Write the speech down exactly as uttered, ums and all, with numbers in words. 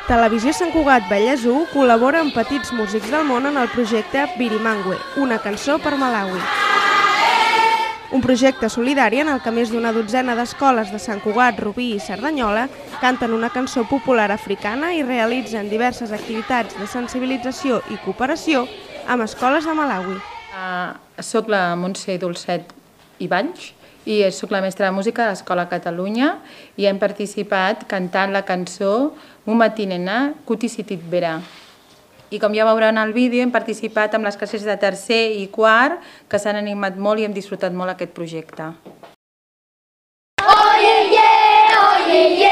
Televisió Sant Cugat Vallès u col·labora amb petits músics del món en el projecte Birimangwe, una cançó per Malawi. Un projecte solidari en el que més d'una dotzena d'escoles de Sant Cugat, Rubí i Cerdanyola canten una cançó popular africana i realitzen diverses activitats de sensibilització i cooperació amb escoles de Malawi. Soc la Montse Dolcet i Valls i soc la mestra de música de l'Escola Catalunya i hem participat cantant la cançó Mumatinena Kutisitit Bera. I com ja veuran al vídeo, hem participat amb les classes de tercer i quart que s'han animat molt i hem disfrutat molt aquest projecte. Oye, yeah, oye, yeah.